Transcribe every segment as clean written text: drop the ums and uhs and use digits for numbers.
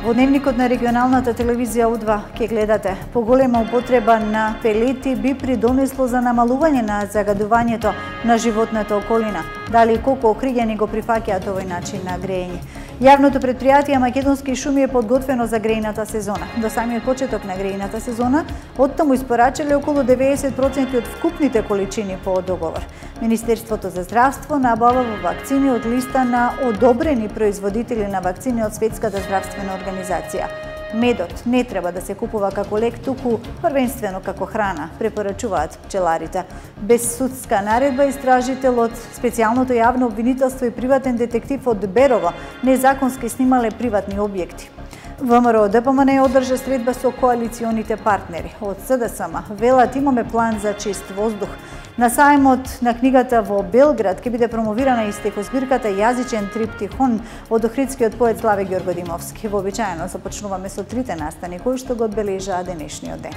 Во дневникот на регионалната телевизија У2 ќе гледате: поголема употреба на пелети би придонесло за намалување на загадувањето на животната околина. Дали и колку Охриѓани го прифаќаат овој начин на грејење? Јавното претпријатие Македонски шуми е подготвено за грејната сезона. До самиот почеток на грејната сезона, оттаму испорачале околу 90% од вкупните количини по договор. Министерството за здравство набава вакцини од листа на одобрени производители на вакцини од Светската здравствена организација. Медот не треба да се купува како лек, туку првенствено како храна, препорачуваат пчеларите. Без судска наредба, истражителот специјалното јавно обвинителство и приватен детектив од Берово незаконски снимале приватни објекти. ВМРО ДПМН одржа средба со коалиционите партнери. Од СДСМ велат имаме план за чист воздух. На сајмот на книгата во Белград ќе биде промовирана и стихозбирката Јазичен триптихон од охридскиот поет Славе Ѓоргодимовски. Вообичаено започнуваме со трите настани кои што го одбележаа денешниот ден.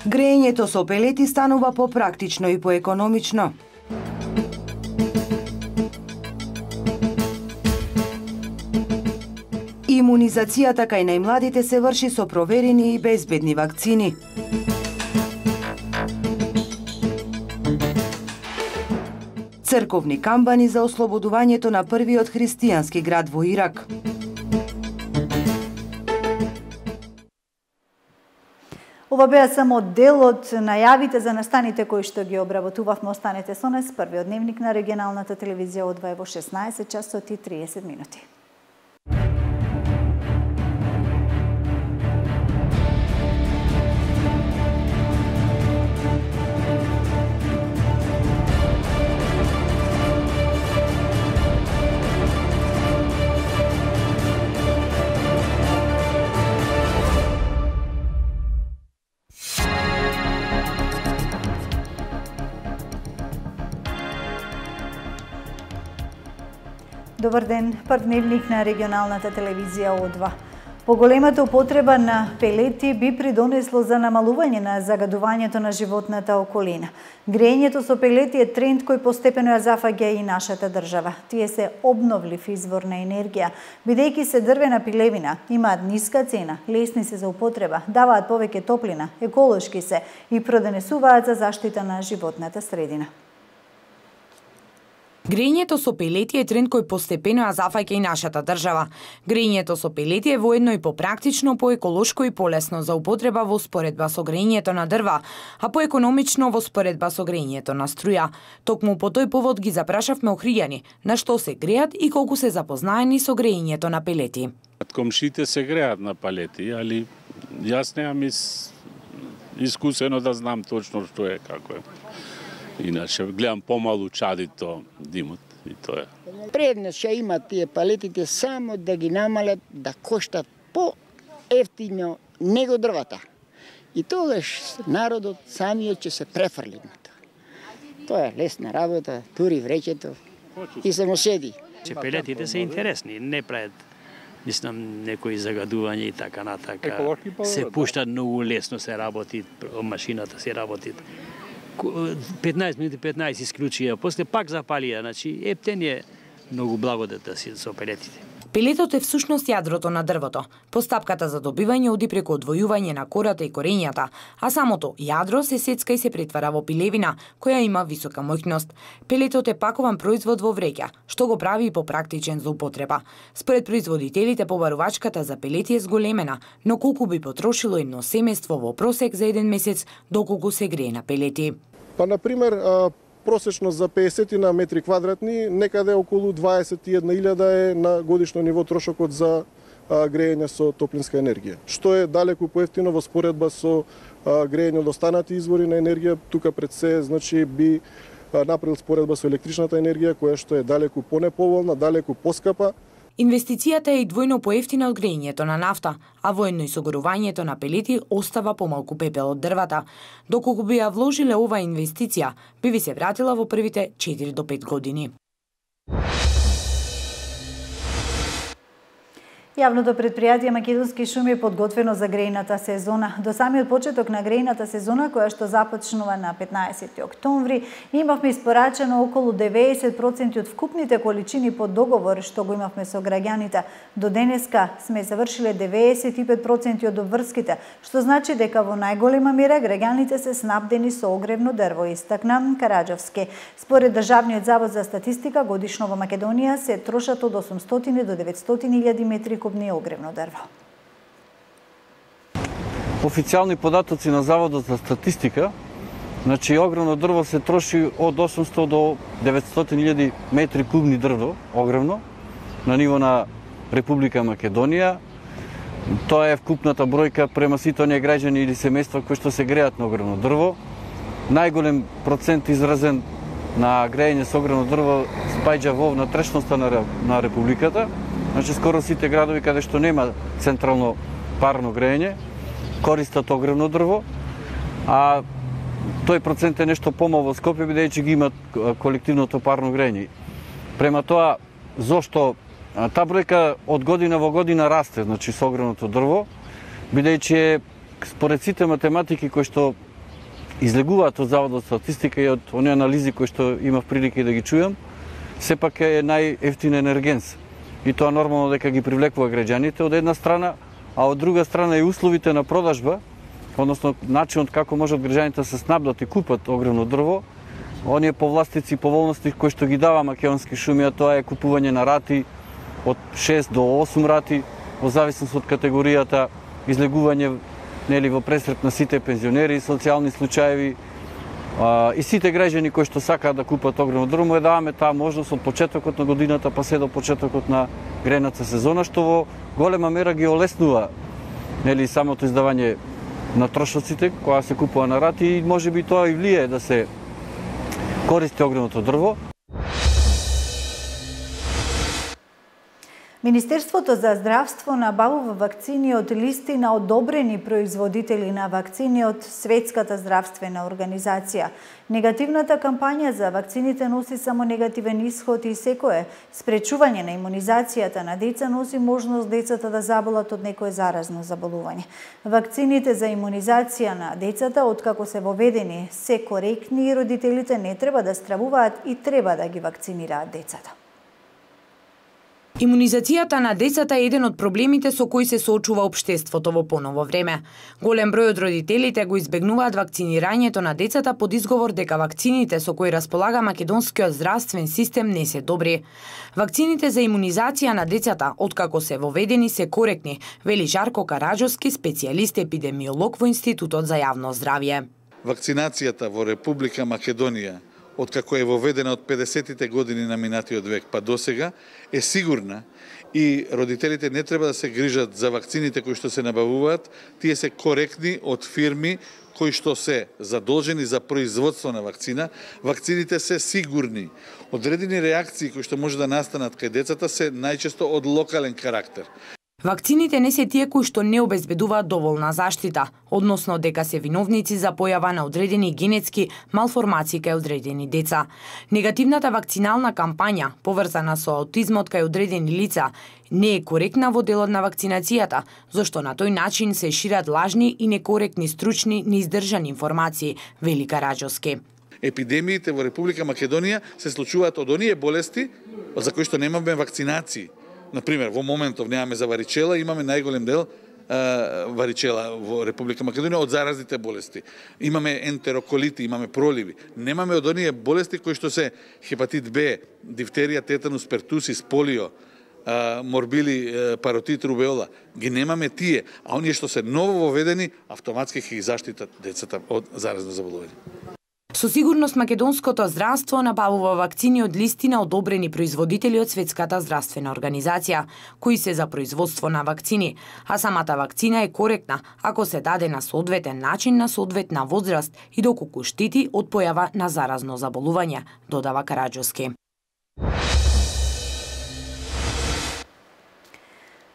Грејењето со пелети станува попрактично и поекономично. Имунизацијата кај најмладите се врши со проверени и безбедни вакцини. Црковни камбани за ослободувањето на првиот христијански град во Ирак. Ова беа само дел од најавите за настаните кои што ги обработувавме. Останете со нас. Првиот дневник на регионалната телевизија од 2 во 16 часот и 30 минути. Добар ден, прв дневник на регионалната телевизија У2. Поголемата употреба на пелети би придонесло за намалување на загадувањето на животната околина. Грејењето со пелети е тренд кој постепено ја зафаќа и нашата држава. Тие се обновлив извор на енергија, бидејќи се дрвена пилевина, имаат ниска цена, лесни се за употреба, даваат повеќе топлина, еколошки се и продонесуваат за заштита на животната средина. Грејењето со пелети е тренд кој постепено ја зафаќа и нашата држава. Грејењето со пелети е воедно и попрактично, поеколошко и полесно за употреба во споредба со грејењето на дрва, а поекономично во споредба со грејењето на струја. Токму по тој повод ги запрашавме Охриѓани на што се греат и колку се запознаени со грејењето на пелети. Комшите се греат на палети, али јас немам искусено да знам точно што е, како е. Иначе гледам помалу чадито димот и тоа е. Предност ќе имат тие палетите само да ги намалат да коштат по-ефтино него дрвата. И тогаш народот самиот ќе се префрли на тоа. Тоа е лесна работа, тури вреќето и само седи. Пелетите се интересни, не прават мислам некои загадувања и така натака. Се пушта многу лесно, се работи, машината се работи. 15 минути 15 исклучија, после пак запалија, значи ептен е многу благодата си со пелетите. Пелетот е всушност јадрото на дрвото. Постапката за добивање оди преку одвојување на кората и корењата, а самото јадро се сецка и се претвара во пилевина, која има висока моќност. Пелетот е пакован производ во вреќа, што го прави и попрактичен за употреба. Според производителите, побарувачката за пелети е зголемена, но колку би потрошило едно семејство во просек за еден месец доколку се грее на пелети? Па, например, просечно за 50 на метри квадратни, некаде околу 21.000 е на годишно ниво трошокот за грејење со топлинска енергија, што е далеку поевтино во споредба со грејење од останати извори на енергија. Тука пред се, значи, би направил споредба со електричната енергија, која што е далеку понеповолна, далеку поскапа. Инвестицијата е и двојно поевтина од грејењето на нафта, а воедно и согорувањето на пелети остава помалку пепел од дрвата. Доколку би ја вложиле оваа инвестиција, би ви се вратила во првите 4 до 5 години. Јавното предпријатие Македонски шуми е подготвено за грејната сезона. До самиот почеток на грејната сезона, која што започнува на 15 октомври, имавме испорачено околу 90% од вкупните количини по договор што го имавме со граѓаните. До денеска сме завршиле 95% од обврските, што значи дека во најголема мера граѓаните се снабдени со огревно дрво, истакна Караџовски. Според Државниот завод за статистика, годишно во Македонија се трошат од 800 до 900.000 метри кубни огревно дрво. Официјални податоци на Заводот за статистика, значи огревно дрво се троши од 800 до 900.000 метри кубни дрво, огревно, на ниво на Република Македонија. Тоа е вкупната бројка према сите оние граѓани или семејства кои што се греат на огревно дрво. Најголем процент изразен на грејање со огревно дрво спаѓа во внатрешноста на Републиката. Значи, скоро сите градови каде што нема централно парно грејање, користат огревно дрво, а тој процент е нешто помал во Скопје, бидејќи ги имат колективното парно грејање. Према тоа, зошто таа бројка од година во година расте, значи со огревното дрво, бидејќи според сите математики кои што излегуваат од Заводот за статистика и од оние анализи кои што имав прилика да ги чујам, сепак е најевтин енергенс. И тоа нормално дека ги привлекува граѓаните од една страна, а од друга страна и условите на продажба, односно начинот како можат граѓаните да се снабдат и купат огревно дрво, оние повластици и поволности кои што ги дава Македонски шуми, а тоа е купување на рати од 6 до 8 рати, во зависност од категоријата, излегување во пресрет на сите пензионери, социјални случаеви, и сите граѓани кои што сакаат да купат огревно дрво, му даваме таа можност од почетокот на годината па се до почетокот на грејната сезона, што во голема мера ги олеснува самото издавање на трошоците која се купува на рати и можеби тоа и влие да се користи огревното дрво. Министерството за здравство набавува вакцини од листи на одобрени производители на вакцини од Светската здравствена организација. Негативната кампања за вакцините носи само негативен исход и секое спречување на имунизацијата на деца носи можност децата да заболат од некое заразно заболување. Вакцините за имунизација на децата, откако се воведени, се коректни и родителите не треба да стравуваат и треба да ги вакцинираат децата. Имунизацијата на децата е еден од проблемите со кои се соочува општеството во поново време. Голем број од родителите го избегнуваат вакцинирањето на децата под изговор дека вакцините со кои располага македонскиот здравствен систем не се добри. Вакцините за имунизација на децата, откако се воведени, се коректни, вели Жарко Караџовски, специјалист епидемиолог во Институтот за јавно здравје. Вакцинацијата во Република Македонија, откако е воведена од 50-тите години на минатиот век па досега, е сигурна и родителите не треба да се грижат за вакцините кои што се набавуваат, тие се коректни од фирми кои што се задолжени за производство на вакцина. Вакцините се сигурни. Одредени реакции кои што може да настанат кај децата се најчесто од локален карактер. Вакцините не се тие кои што не обезбедуваат доволна заштита, односно дека се виновници за појава на одредени генетски малформации кај одредени деца. Негативната вакцинална кампања, поврзана со аутизмот кај одредени лица, не е коректна во делот на вакцинацијата, зашто на тој начин се шират лажни и некоректни стручни, неиздржани информации, вели Караџовски. Епидемиите во Република Македонија се случуваат од оние болести за кои што немаме вакцинации. Например, во моментов немаме за варичела, имаме најголем дел варичела во Република Македонија од заразните болести. Имаме ентероколити, имаме проливи. Немаме од оние болести кои што се хепатит Б, дифтерија, тетанус, пертусис, полио, морбили, паротит, рубеола. Ги немаме тие, а оние што се ново воведени, автоматски ќе ги заштитат децата од заразно заболување. Со сигурност македонското здравство набавува вакцини од листи на одобрени производители од Светската здравствена организација, кои се за производство на вакцини, а самата вакцина е коректна ако се даде на соодветен начин на соодветна возраст и доколку штити од појава на заразно заболување, додава Караџовски.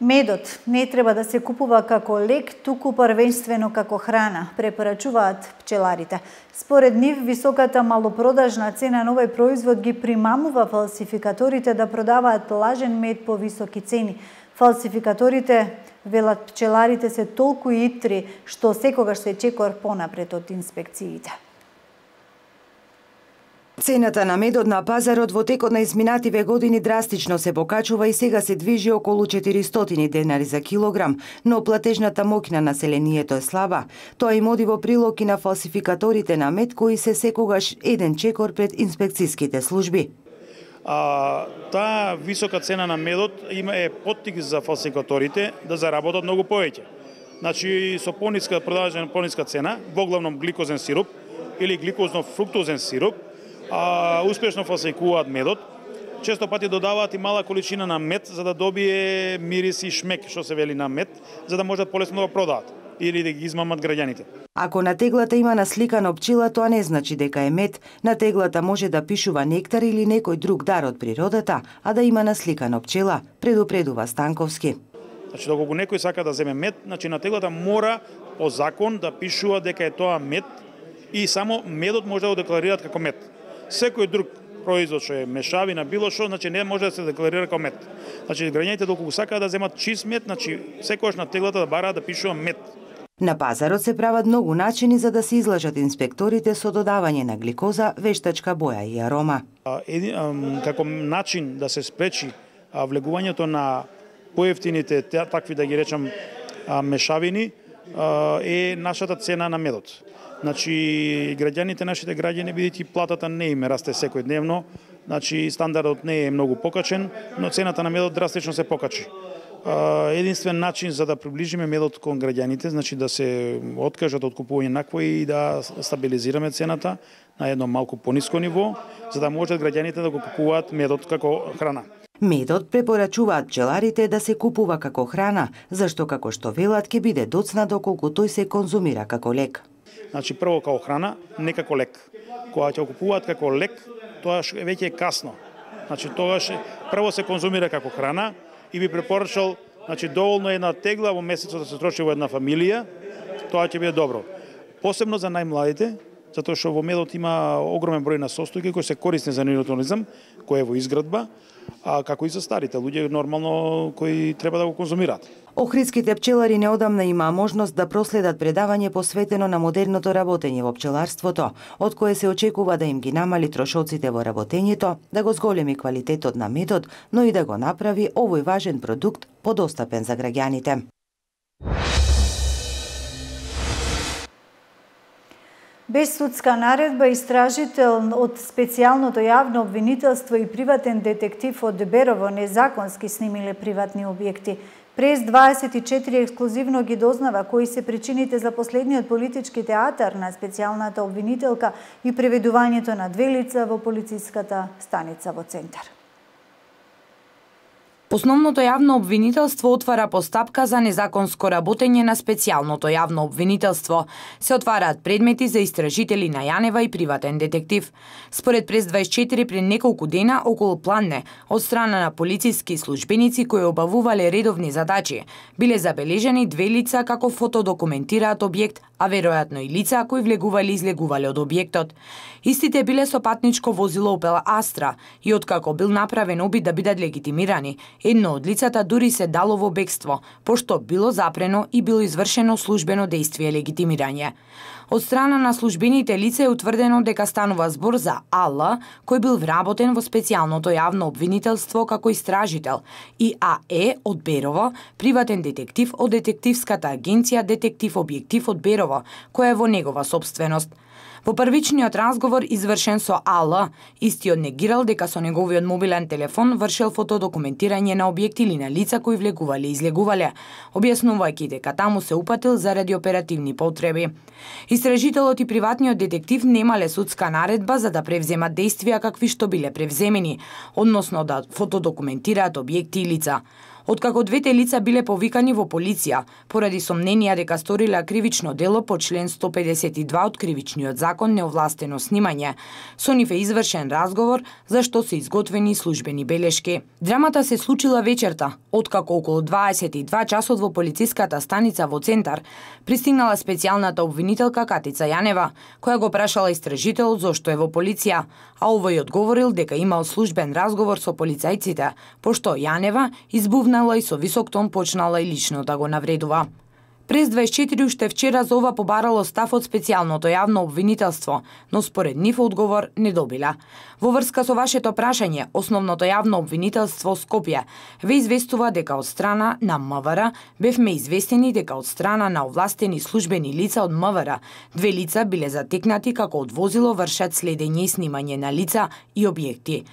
Медот не треба да се купува како лек, туку првенствено како храна, препорачуваат пчеларите. Според нив, високата малопродажна цена на овој производ ги примамува фалсификаторите да продаваат лажен мед по високи цени. Фалсификаторите, велат пчеларите, се толку итри што секогаш се чекор понапред од инспекциите. Цената на медот на пазарот во текот на изминативе години драстично се покачува и сега се движи околу 400 денари за килограм, но платежната моќ на населението е слаба. Тоа им оди во прилог и на фалсификаторите на мед кои се секогаш еден чекор пред инспекцијските служби. Таа висока цена на медот е поттик за фалсификаторите да заработат многу повеќе. Значи со пониска продажна пониска цена, воглавном гликозен сироп или гликозно-фруктозен сироп, успешно фалсификуваат медот. Често пати додаваат и мала количина на мед за да добие мирис и шмек, што се вели на мед, за да можат полесно да го продаат или да ги измамат граѓаните. Ако на теглата има насликано пчела, тоа не значи дека е мед. На теглата може да пишува нектар или некој друг дар од природата, а да има насликано пчела, предупредува Станковски. Значи, доколку некој сака да земе мед, значи на теглата мора по закон да пишува дека е тоа мед и само медот може да го декларираат како мед. Секој друг производ што е мешавина, било што, значи не може да се декларира како мед. Значи граѓаните доколку сакаат да земат чист мед, значи секогаш на теглата да бараат да пишува мед. На пазарот се прават многу начини за да се излажат инспекторите со додавање на гликоза, вештачка боја и арома. Како начин да се спречи влегувањето на поевтините, такви да ги речам мешавини, е нашата цена на медот. Значи, граѓаните, нашите граѓани, бидејќи платата не им расте секојдневно, значи стандардот не е многу покачен, но цената на медот драстично се покачи. Единствен начин за да приближиме медот кон граѓаните, значи да се откажат од купување накој и да стабилизираме цената на едно малку пониско ниво, за да можат граѓаните да го купуваат медот како храна. Медот препорачуваат пчеларите да се купува како храна, зашто како што велат ќе биде доцна доколку тој се конзумира како лек. Значи прво како храна, не како лек. Кога ќе го купуваат како лек, тоа веќе е касно. Значи тогаш прво се конзумира како храна и би препорачал, значи доволно една тегла во месецот да се троши во една фамилија, тоа ќе биде добро. Посебно за најмладите, затоа што во медот има огромен број на состојки кои се корисни за нивниот организам, кој е во изградба, а како и за старите луѓе нормално кои треба да го конзумираат. Охридските пчелари неодамна имаа можност да проследат предавање посветено на модерното работење во пчеларството, од кое се очекува да им ги намали трошоците во работењето, да го зголеми квалитетот на медот, но и да го направи овој важен продукт подостапен за граѓаните. Без судска наредба, истражител од специјалното јавно обвинителство и приватен детектив од Берово незаконски снимиле приватни објекти. Прес 24 ексклузивно ги дознава кои се причините за последниот политички театар на специјалната обвинителка и преведувањето на две лица во полициската станица во Центар. Основното јавно обвинителство отвара постапка за незаконско работење на специјалното јавно обвинителство. Се отвараат предмети за истражители на Јанева и приватен детектив. Според Прес 24 пред неколку дена околу Планне, од страна на полициски службеници кои обавувале редовни задачи, биле забележени две лица како фотодокументираат објект, а веројатно и лица кои влегувале и излегувале од објектот. Истите биле со патничко возило Opel Astra и откако бил направен обид да бидат легитимирани, едно од лицата дури се дало во бегство, пошто било запрено и било извршено службено дејствие легитимирање. Од страна на службените лица е утврдено дека станува збор за АЛ, кој бил вработен во специјалното јавно обвинителство како истражител, и АЕ од Берово, приватен детектив од детективската агенција Детектив Објектив од Берово, која е во негова сопственост. Во првичниот разговор извршен со АЛ, истиот негирал дека со неговиот мобилен телефон вршел фотодокументирање на објекти или на лица кои влегувале и излегувале, објаснувајќи дека таму се упатил заради оперативни потреби. Истражителот и приватниот детектив немале судска наредба за да превземат дејствија какви што биле превземени, односно да фотодокументираат објекти и лица. Откако двете лица биле повикани во полиција, поради сомненија дека сториле кривично дело по член 152 од Кривичниот закон неовластено снимање, со нив е извршен разговор за што се изготвени службени белешки. Драмата се случила вечерта, откако околу 22 часот во полициската станица во Центар пристигнала специјалната обвинителка Катица Јанева, која го прашала истражителот зошто е во полиција, а овој одговорил дека имал службен разговор со полицајците, пошто Јанева избувна повнела и со висок тон почнала и лично да го навредува. Прес 24 уште вчера за ова побарало став од специјалното јавно обвинителство, но според нив одговор не добила. Во врска со вашето прашање, основното јавно обвинителство Скопје ве известува дека од страна на МВР бевме известени дека од страна на овластени службени лица од МВР 2 лица биле затекнати како од возило вршат следење и снимање на лица и објекти.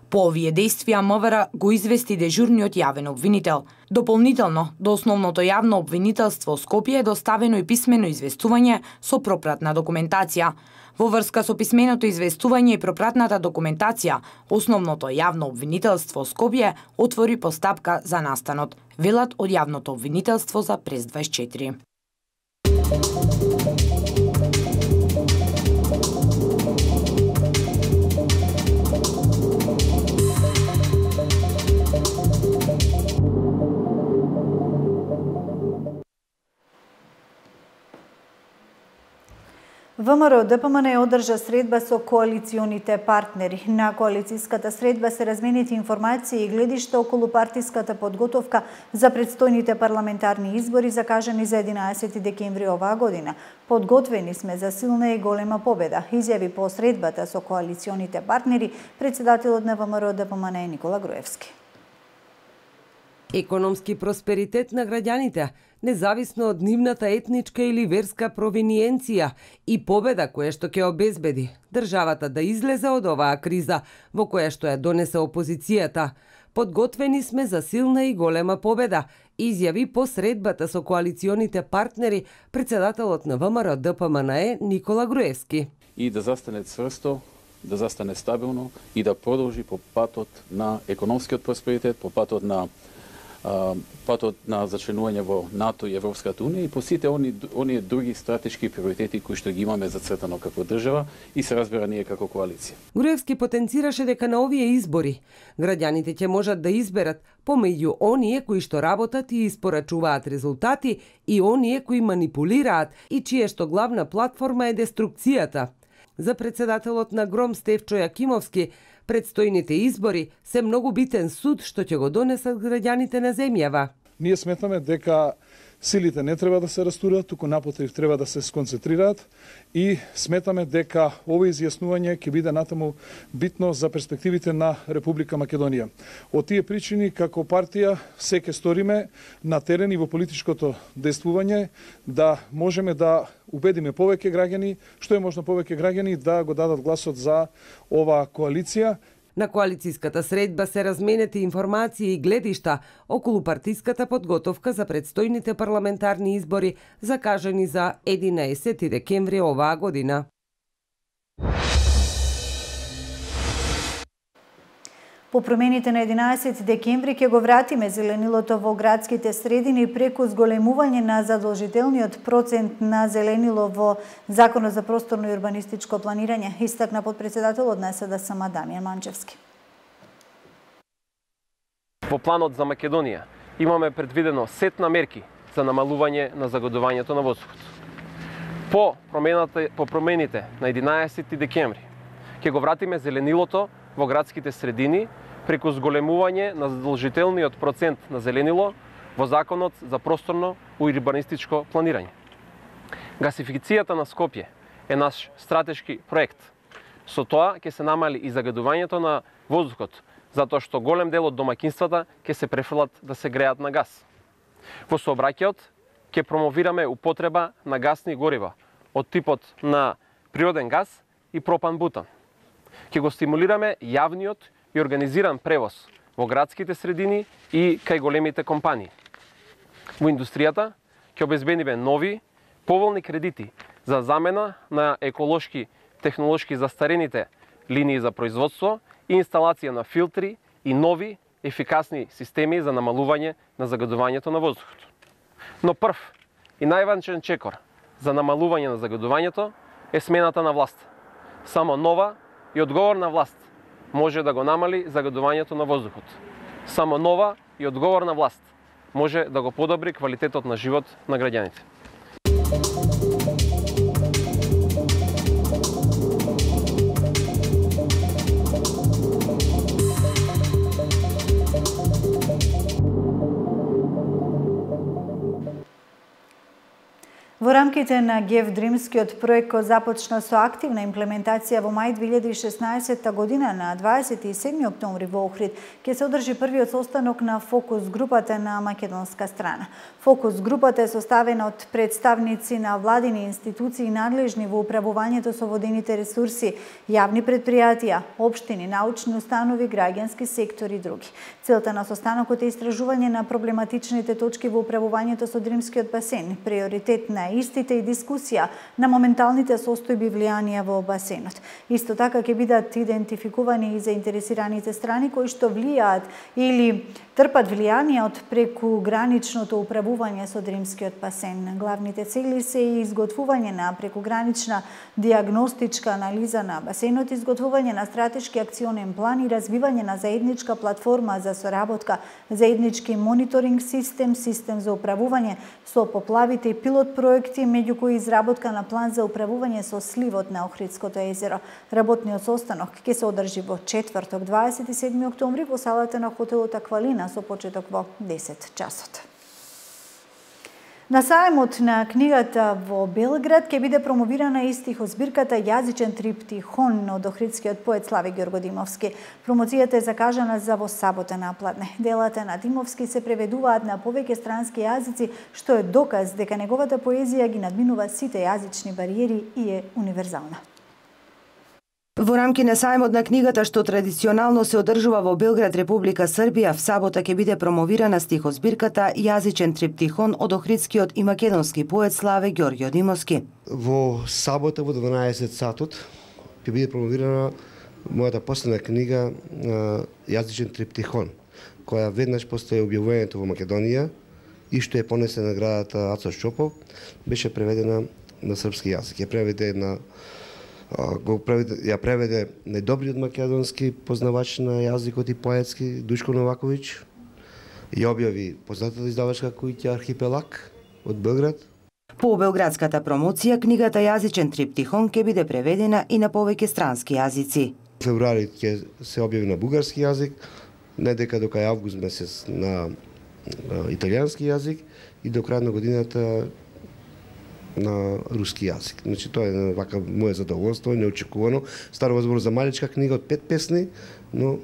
По овие действија МВР го извести дежурниот јавен обвинител. Дополнително, до основното јавно обвинителство Скопје е доставено и писмено известување со пропратна документација. Во врска со писменото известување и пропратната документација, основното јавно обвинителство Скопје отвори постапка за настанот, велат од јавното обвинителство за Прес 24. ВМРО ДПМН одржа средба со коалиционите партнери. На коалицијската средба се разменети информации и гледишта околу партиската подготовка за предстојните парламентарни избори закажани за 11 декември оваа година. Подготвени сме за силна и голема победа, изјави по средбата со коалиционите партнери председателот на ВМРО ДПМН Никола Груевски. Економски просперитет на граѓаните, независно од нивната етничка или верска провиниенција и победа која што ќе обезбеди државата да излезе од оваа криза во која што ја донесе опозицијата. Подготвени сме за силна и голема победа, изјави по средбата со коалиционите партнери председателот на ВМРО ДПМН Никола Груевски. И да застане цврсто, да застане стабилно и да продолжи по патот на економскиот просперитет, по патот на зачленување во НАТО и Европската Унија и по сите оние други стратешки приоритети кои што ги имаме зацртано како држава и се разбира ние како коалиција. Груевски потенцираше дека на овие избори граѓаните ќе можат да изберат помеѓу оние кои што работат и испорачуваат резултати и оние кои манипулираат и чие што главна платформа е деструкцијата. За председателот на ГРОМ Стефчо Јакимовски, предстојните избори се многу битен суд што ќе го донесат граѓаните на земјава. Ние сметаме дека силите не треба да се растурат, туку напротив треба да се сконцентрираат и сметаме дека ова изјаснување ќе биде натаму битно за перспективите на Република Македонија. Од тие причини како партија се ќе сториме на терен и во политичкото действување да можеме да убедиме повеќе граѓани, што е можно повеќе граѓани да го дадат гласот за оваа коалиција. На коалицијската средба се разменети информации и гледишта околу партиската подготовка за предстојните парламентарни избори закажани за 11 декември оваа година. По промените на 11 декември ќе го вратиме зеленилото во градските средини преку зголемување на задолжителниот процент на зеленило во Законот за просторно и урбанистичко планирање, истакна подпредседателот на СДСМ Дамјан Манчевски. Во планот за Македонија имаме предвидено сет на мерки за намалување на загадувањето на воздухот. По промените на 11 декември ќе го вратиме зеленилото во градските средини преку зголемување на задолжителниот процент на зеленило во Законот за просторно и урбанистичко планирање. Гасификацијата на Скопје е наш стратешки проект. Со тоа ќе се намали и загадувањето на воздухот, затоа што голем дел од домаќинствата ќе се префрлат да се греат на газ. Во сообраќајот ќе промовираме употреба на гасни горива од типот на природен газ и пропан-бутан. Ќе го стимулираме јавниот и организиран превоз во градските средини и кај големите компании. Во индустријата ќе обезбедиме нови, поволни кредити за замена на еколошки, технолошки застарените линии за производство и инсталација на филтри и нови, ефикасни системи за намалување на загадувањето на воздухот. Но прв и најважен чекор за намалување на загадувањето е смената на власт. Само нова и одговорна власт може да го намали загадувањето на воздухот. Само нова и одговорна власт може да го подобри квалитетот на живот на граѓаните. рамките на ГЕВ Дримскиот проект кој започна со активна имплементација во мај 2016 година, на 27 октомври во Охрид ќе се одржи првиот состанок на фокус групата на македонска страна. Фокус групата е составена од представници на владини институции надлежни во управувањето со водените ресурси, јавни предпријатија, општини, научни установи, граѓански сектор и други. Целта на состанокот е истражување на проблематичните точки во управувањето со Дримскиот басен, приоритет на истите и дискусија на моменталните состојби влијанија во басенот. Исто така ќе бидат идентификувани и заинтересираните страни кои што влијаат или трпат влијание од прекуграничното управување со Дримскиот басен. Главните цели се и изготвување на прекугранична диагностичка анализа на басенот, изготвување на стратешки акционен план и развивање на заедничка платформа за соработка, заеднички мониторинг систем, систем за управување со поплавите и пилот проекти, меѓу кои изработка на план за управување со сливот на Охридското езеро. Работниот состанок ќе се одржи во четврток, 27 октомври во салата на хотелот Аквалина со почеток во 10 часот. На сајмот на книгата во Белград ќе биде промовирана и стихозбирката Јазичен триптихон од охридскиот поет Славе Ѓоргодимовски. Промоцијата е закажана за во сабота напладне. Делата на Димовски се преведуваат на повеќе странски јазици, што е доказ дека неговата поезија ги надминува сите јазични бариери и е универзална. Во рамки на сајмот на книгата, што традиционално се одржува во Белград, Република Србија, в сабота ќе биде промовирана стихозбирката Јазичен триптихон од охридскиот и македонски поет Славе Ѓоргодимовски. Во сабота во 12 сатот ќе биде промовирана мојата последна книга Јазичен триптихон, која веднаш после објавувањето во Македонија и што е понесе наградата Ацо Шопов, беше преведена на српски јазик. Ја преведе најдобриот македонски познавач на јазикот и поетски Душко Новаковиќ. Ја објави познатата издавачка куќа Архипелаг од Белград. По белградската промоција, книгата Јазичен триптихон ќе биде преведена и на повеќе странски јазици. Февруари ќе се објави на бугарски јазик, не дека до кај август месец на италијански јазик и до крај на годината на руски јазик. Значи тоа е вака моје задоволство, неочекувано. Станува збор за маличка книга од 5 песни, но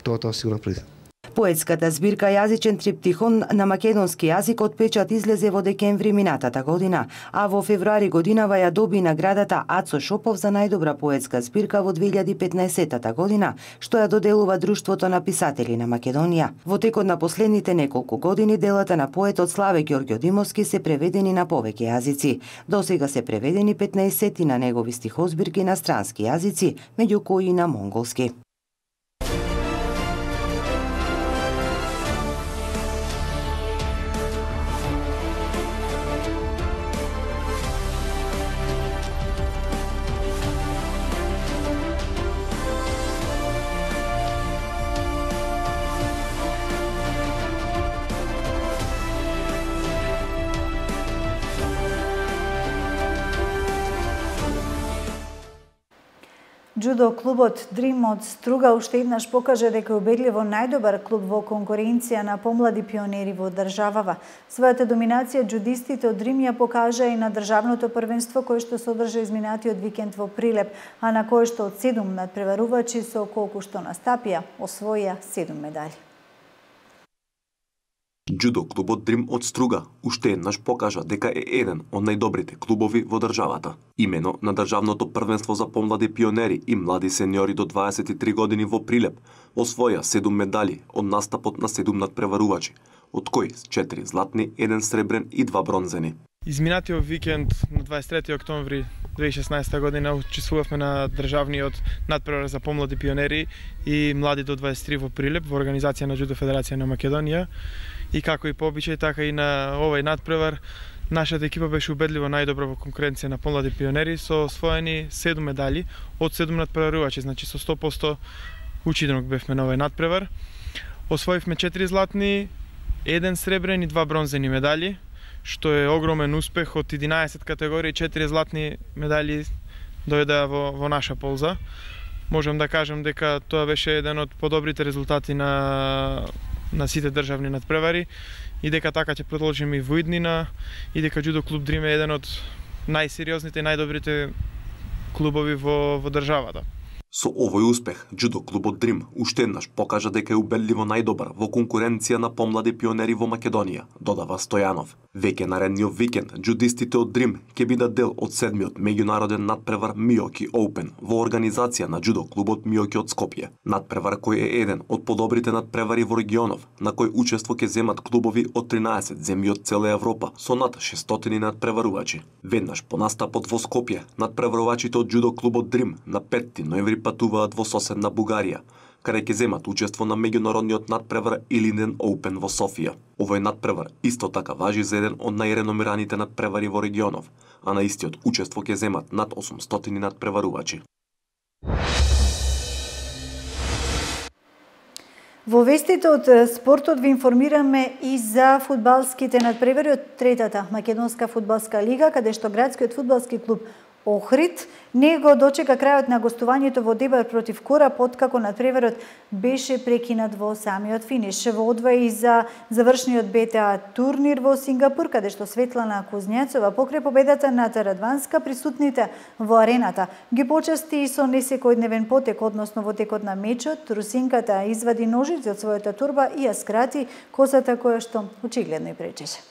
тоа си го направи. Поетската збирка Јазичен триптихон на македонски јазик од печат излезе во декември минатата година, а во февруари годинава ја доби наградата Ацо Шопов за најдобра поетска збирка во 2015 година, што ја доделува Друштвото на писатели на Македонија. Во текот на последните неколку години делата на поетот Славе Ѓоргодимовски се преведени на повеќе јазици. Досега се преведени 15 на негови стихозбирки на странски јазици, меѓу кои и на монголски. Џудо клубот Дрим од Струга уште еднаш покажа дека е убедливо најдобар клуб во конкуренција на помлади пионери во државава. Својата доминација џудистите од Дрим ја покажа и на државното првенство кое што се одржа изминатиот викенд во Прилеп, а на кое што од 7 надпреварувачи со колку што настапија освоија 7 медали. Џудо клубот Дрим од Струга уште еднаш покажа дека е еден од најдобрите клубови во државата. Имено на државното првенство за помлади пионери и млади сениори до 23 години во Прилеп освоја 7 медали од настапот на 7 надпреварувачи, од кои 4 златни, 1 сребрен и 2 бронзени. Изминатиот викенд на 23 октомври 2016 година учествувавме на државниот надпревар за помлади пионери и млади до 23 во Прилеп во организација на Џудо Федерација на Македонија. И како и по обичај, така и на овој надпревар, нашата екипа беше убедливо најдобра во конкуренција на помлади пионери со освоени 7 медали од 7 надпреварувачи, значи со 100% учиденок бевме на овој надпревар. Освоивме 4 златни, 1 сребрен и 2 бронзени медали, што е огромен успех. Од 11 категории 4 златни медали дојдоа во наша полза. Можам да кажам дека тоа беше еден од подобрите резултати на сите државни надпревари и дека така ќе продолжиме и во иднина и дека Џудо клуб Дрим е еден од најсериозните и најдобрите клубови во државата. Со овој успех, џудо клубот Дрим уште еднаш покажа дека е убедливо најдобар во конкуренција на помлади пионери во Македонија, додава Стојанов. Веќе наредниот викенд, џудистите од Дрим ќе бидат дел од 7-миот меѓународен надпревар Миоки Оупен во организација на џудо клубот Миоки од Скопје. Надпревар кој е еден од подобрите надпревари во регионов, на кој учество ќе земат клубови од 13 земји од цела Европа со над 600 надпреварувачи. Веднаш по настапот во Скопје, надпреварувачите од џудо клубот Дрим на 5 ноември патуваат во соседна Бугарија, каде ќе земат учество на меѓународниот надпревар Илинден Оупен во Софија. Овој надпревар исто така важи за еден од најреномираните надпревари во регионов, а на истиот учество ќе земат над 800 надпреварувачи. Во вестите од спортот ви информираме и за фудбалските надпревари од третата Македонска фудбалска лига, каде што градскиот фудбалски клуб Охрид не го дочека крајот на гостувањето во дебат против Корап, откако надпреварот беше прекинат во самиот финиш. Во одвој и за завршниот БТА турнир во Сингапур, каде што Светлана Кузнјацова покрај победата на Радванска, присутните во арената ги почасти и со несекојдневен потек, односно во текот на мечот, русинката извади ножици од својата турба и ја скрати косата која што очигледно и пречеше.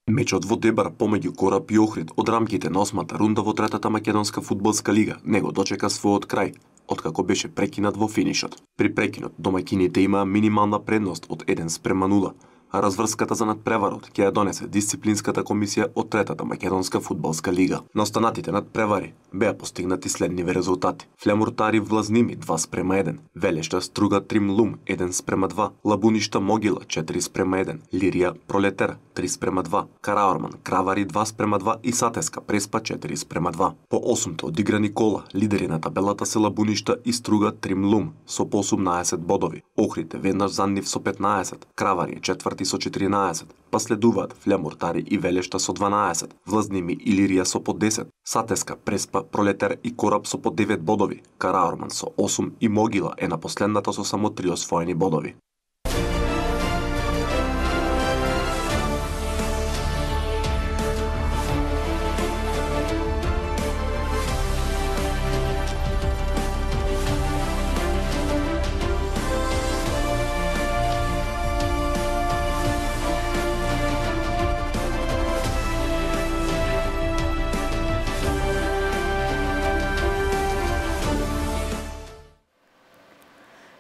Мечот во дебар помеѓу Корап и Охрид од рамките на 8-та рунда во третата Македонска фудбалска лига не го дочека својот крај, откако беше прекинат во финишот. При прекинот домаќините имаа минимална предност од 1:0, а разврската за надпреварот ќе ја донесе дисциплинската комисија од третата Македонска фудбалска лига. На останатите надпревари беа постигнати следниви резултати: Флемуртари Влазними 2:1, Велешта Струга Тримлум 1:2, Лабуништа Могила 4:1, Лирија Пролетер 3:2, Караорман Кравари 2:2 и Сатеска Преспа 4:2. По 8-то одиграни кола, лидери на табелата се Лабуништа и Струга Тримлум со по 18 бодови. Охрид веднаш за нив со 15, Кравари е четврти со 14, па следуваат Флемуртари и Велешта со 12, Влазними и Лирија со по 10, Сатеска, Преспа, Пролетер и Корап со по 9 бодови, Караорман со 8 и Могила е на последната со само 3 освоени бодови.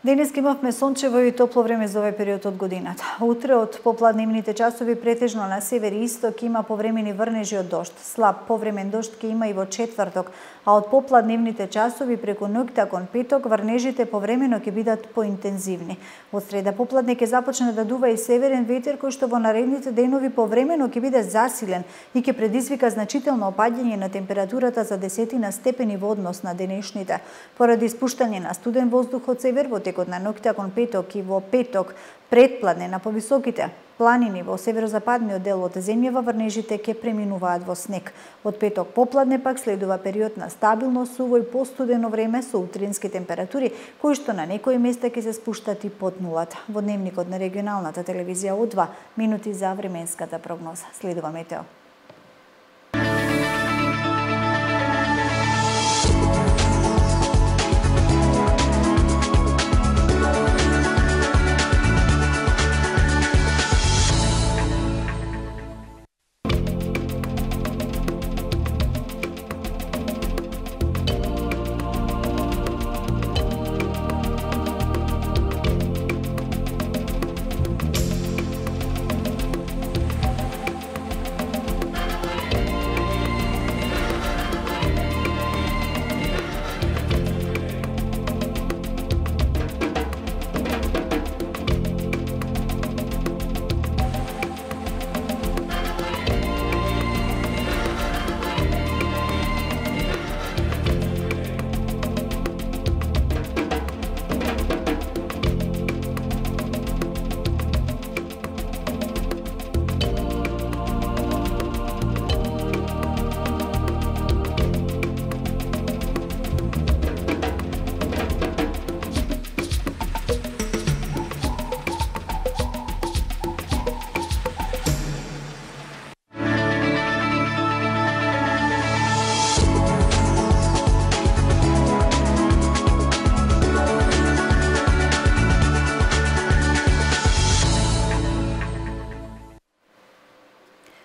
Денес имавме сончево и топло време за овој период од годината. Утре од попладневните часови претежно на север и исток има повремени врнежи од дожд. Слаб повремен дожд ќе има и во четврток, а од попладневните часови преку ноќта кон петок врнежите повремено ќе бидат поинтензивни. Од среда попладне ќе започне да дува и северен ветер кој што во наредните денови повремено ќе биде засилен и ќе предизвика значително опаѓање на температурата за десетина степени во однос на денешните. Поради испуштање на студен воздух од север во текот на ноќта кон петок и во петок предпладне на повисоките планини во северозападниот дел од земјава врнежите ќе преминуваат во снег. Од петок попладне пак следува период на стабилно суво и постудено време со утрински температури кои што на некои места ќе се спуштат и под нулата. Во дневникот на регионалната телевизија У2 минути за временската прогноза. Следува метео.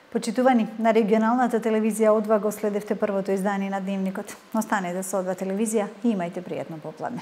Почитувани, на регионалната телевизија О2 го следевте првото издание на Дневникот. Останете со О2 телевизија и имајте пријатно попладне.